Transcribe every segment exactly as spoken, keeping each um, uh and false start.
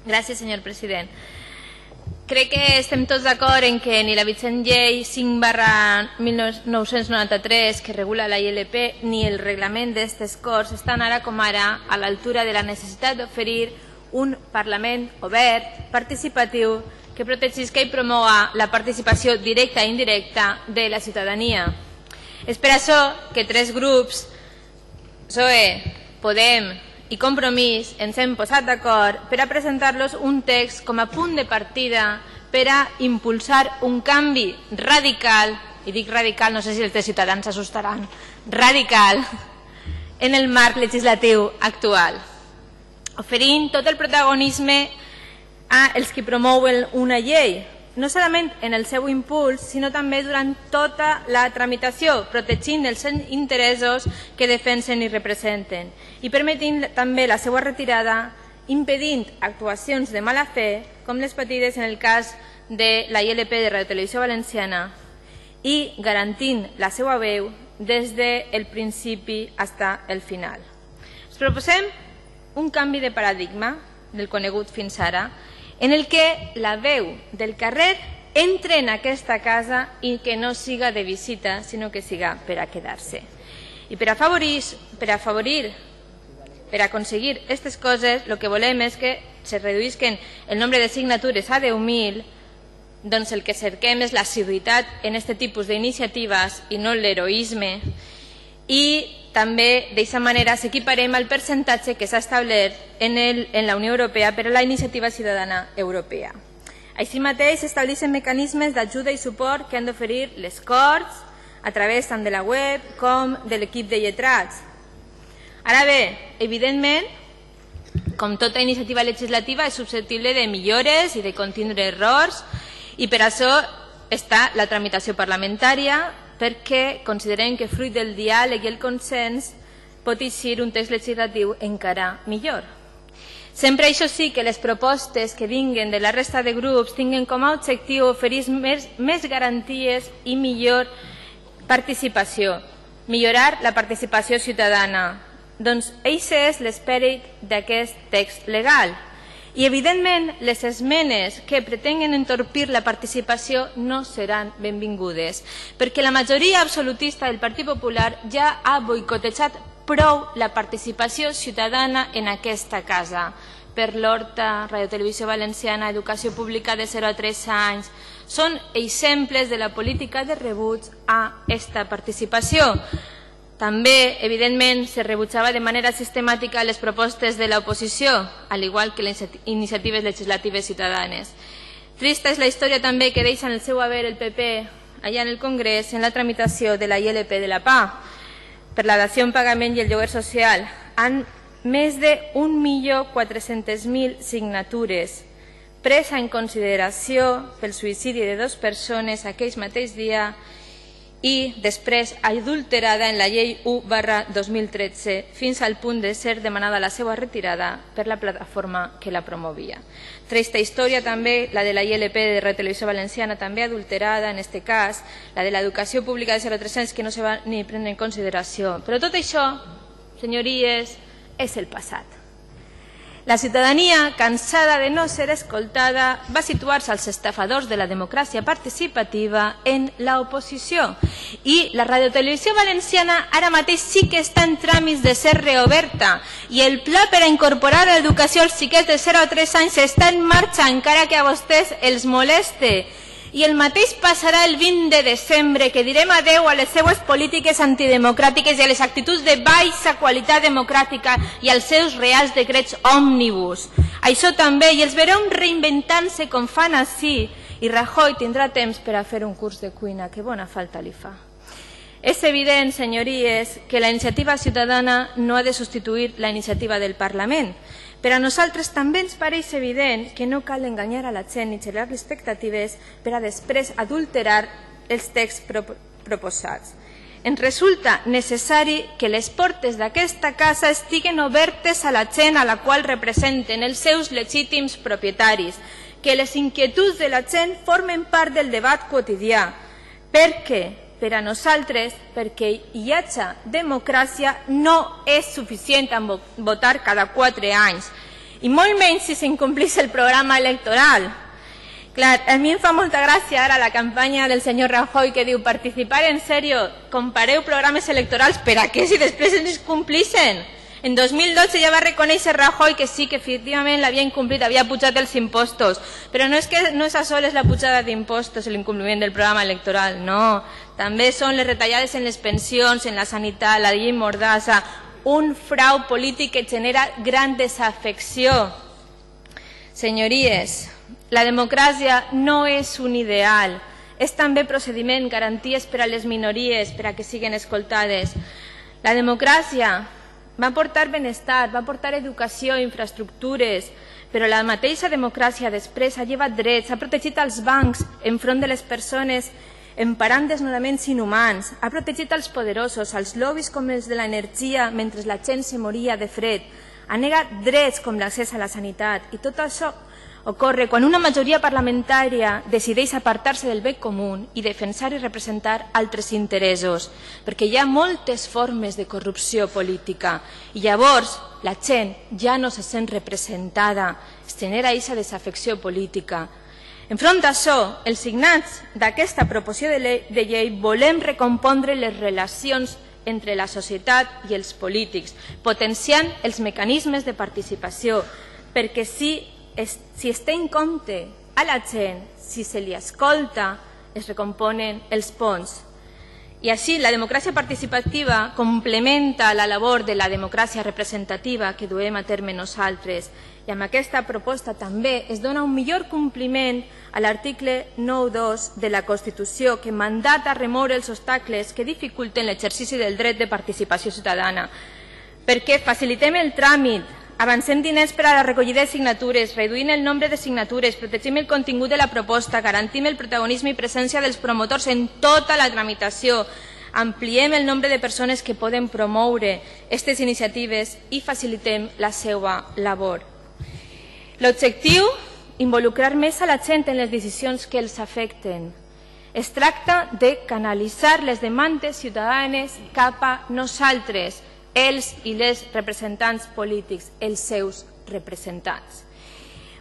Gràcies, senyor president. Crec que estem tots d'acord en que ni la vigent llei cinc barra mil nou-cents noranta-tres que regula la I L P ni el reglament d'aquestes Corts estan ara com ara a l'altura de la necessitat d'oferir un Parlament obert, participatiu, que protegisca i promoga la participació directa i indirecta de la ciutadania. És per això que tres grups, P S O E, Podem i Compromís, ens hem posat d'acord per a presentar-los un text com a punt de partida per a impulsar un canvi radical, i dic radical, no sé si els de Ciutadans s'assustaran, radical, en el marc legislatiu actual, oferint tot el protagonisme a els que promouen una llei, no solament en el seu impuls, sinó també durant tota la tramitació, protegint els interessos que defensen i representen i permetint també la seva retirada, impedint actuacions de mala fe, com les patides en el cas de la I L P de Radio Televisió Valenciana, i garantint la seva veu des del principi fins al final. Ens proposem un canvi de paradigma del conegut fins ara, en el que la veu del carrer entre en aquesta casa i que no siga de visita, sinó que siga per a quedar-se. I per afavorir, per afavorir, per aconseguir aquestes coses, el que volem és que se reduïsquen el nombre de signatures a deu mil, doncs el que cerquem és la seriositat en aquest tipus d'iniciatives i no l'heroisme, i també d'aquesta manera s'equiparem al percentatge que s'ha establert en, el, en la Unió Europea per a la Iniciativa Ciutadana Europea. Així mateix s'estableixen mecanismes d'ajuda i suport que han d'oferir les Corts a través tant de la web com de l'equip de lletrats. Ara bé, evidentment, com tota iniciativa legislativa és susceptible de millores i de contindre errors, i per això està la tramitació parlamentària, perquè considerem que fruit del diàleg i el consens pot eixir un text legislatiu encara millor. Sempre això sí que les propostes que vinguen de la resta de grups tinguin com a objectiu oferir més, més garanties i millor participació, millorar la participació ciutadana. Doncs això és l'esperit d'aquest text legal. I, evidentment, les esmenes que pretenguen entorpir la participació no seran benvingudes, perquè la majoria absolutista del Partit Popular ja ha boicotejat prou la participació ciutadana en aquesta casa. Per l'Horta, Radio Televisió Valenciana, Educació Pública de zero a tres anys, són exemples de la política de rebuig a aquesta participació. També, evidentment, se rebutjava de manera sistemàtica les propostes de l'oposició, al igual que les iniciatives legislatives ciutadanes. Trista és la història també que deixa en el seu haver el P P allà en el Congrés en la tramitació de la I L P de la P A per la dació en pagament i el lloguer social, amb més d'un milió quatre-cents mil signatures, presa en consideració pel suïcidi de dues persones aquell mateix dia i després adulterada en la llei u barra dos mil tretze fins al punt de ser demanada la seva retirada per la plataforma que la promovia. Trista història també la de la I L P de Radio Televisió Valenciana, també adulterada en aquest cas, la de l'educació pública de zero a tres anys que no se va ni prendre en consideració. Però tot això, senyories, és el passat. La ciutadania, cansada de no ser escoltada, va situar-se als estafadors de la democràcia participativa en l'oposició. I la radiotelevisió valenciana ara mateix sí que està en tràmits de ser reoberta i el pla per a incorporar l'educació als xiquets de zero a tres anys està en marxa, encara que a vostès els moleste. I el mateix passarà el vint de desembre, que direm adeu a les seues polítiques antidemocràtiques i a les actituds de baixa qualitat democràtica i als seus reals decrets òmnibus. Això també, i els veurem reinventant-se com fan així, i Rajoy tindrà temps per a fer un curs de cuina, que bona falta li fa. És evident, senyories, que la iniciativa ciutadana no ha de substituir la iniciativa del Parlament. Per a nosaltres també ens pareix evident que no cal enganyar a la gent ni generar expectatives per a després adulterar els texts proposats. Ens resulta necessari que les portes d'aquesta casa estiguen obertes a la gent a la qual representen els seus legítims propietaris, que les inquietuds de la gent formen part del debat quotidià. Per què? Per a nosaltres, perquè hi hagi democràcia, no és suficient amb votar cada quatre anys. i molt menys si s'incomplís el programa electoral. Clar, a mi em fa molta gràcia ara la campanya del senyor Rajoy que diu participar en sèrio, compareu programes electorals, per a què si després ens complixen? En dos mil dotze ja va reconèixer Rajoy que sí, que efectivament l'havia incomplit, havia pujat els impostos, però no és que no és a soles la pujada d'impostos l'incompliment del programa electoral, no. També són les retallades en les pensions, en la sanitat, la llei Mordassa, un frau polític que genera gran desafecció. Senyories, la democràcia no és un ideal, és també procediment, garanties per a les minories, per a que siguin escoltades. La democràcia va portar benestar, va portar educació, infraestructures, però la mateixa democràcia després ha llevat drets, ha protegit els bancs enfront de les persones emparant desnonaments inhumans, ha protegit els poderosos, els lobbies com els de l'energia mentre la gent se moria de fred, ha negat drets com l'accés a la sanitat i tot això ocorre quan una majoria parlamentària decideix apartar-se del bé comú i defensar i representar altres interessos, perquè hi ha moltes formes de corrupció política i llavors la gent ja no se sent representada, es genera aquesta desafecció política. Enfront d'això, els signats d'aquesta proposició de llei volem recompondre les relacions entre la societat i els polítics, potenciant els mecanismes de participació, perquè si Si es té en compte a la gent, si se li escolta, es recomponen els ponts. I així la democràcia participativa complementa la labor de la democràcia representativa que duem a terme nosaltres. I amb aquesta proposta també es dona un millor compliment a l'article nou dos de la Constitució que mandata remoure els obstacles que dificulten l'exercici del dret de participació ciutadana. Perquè facilitem el tràmit, avancem diners per a la recollida de signatures, reduint el nombre de signatures, protegim el contingut de la proposta, garantim el protagonisme i presència dels promotors en tota la tramitació, ampliem el nombre de persones que poden promoure aquestes iniciatives i facilitem la seva labor. L'objectiu, involucrar més a la gent en les decisions que els afecten. Es tracta de canalitzar les demandes ciutadanes cap a nosaltres, els i les representants polítics, els seus representants.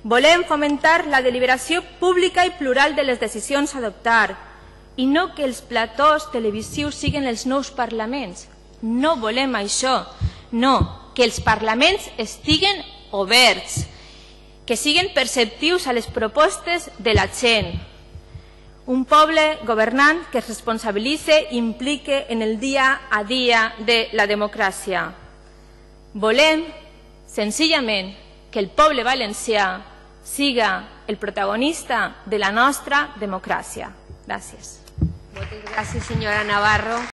Volem fomentar la deliberació pública i plural de les decisions a adoptar i no que els platós televisius siguin els nous parlaments. No volem això, no, que els parlaments estiguen oberts, que siguin perceptius a les propostes de la gent. Un poble governant que es responsabilitze i implique en el dia a dia de la democràcia. Volem, senzillament, que el poble valencià siga el protagonista de la nostra democràcia. Gràcies. Moltes gràcies, senyora Navarro.